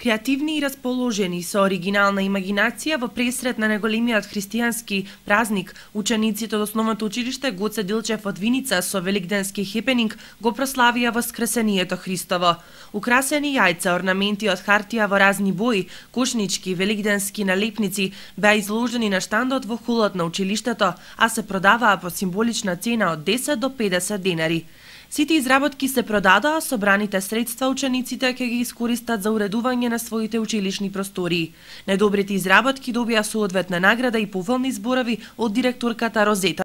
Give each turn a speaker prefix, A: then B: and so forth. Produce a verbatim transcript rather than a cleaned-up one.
A: Креативни и расположени со оригинална имагинација во пресрет на неголемиот христијански празник, учениците од основното училиште Гоце Дилчев од Виница со великденски хепенинг го прославија воскресението Христово. Украсени јајца, орнаменти од хартија во разни бои, кошнички, великденски налепници беа изложени на штандот во холот на училиштето, а се продаваа по символична цена од десет до педесет денари. Сите изработки се продадоа, собраните средства учениците ќе ги искористат за уредување на своите училишни простории. Најдобрите изработки добија соодветна награда и поволни зборови од директорката Розета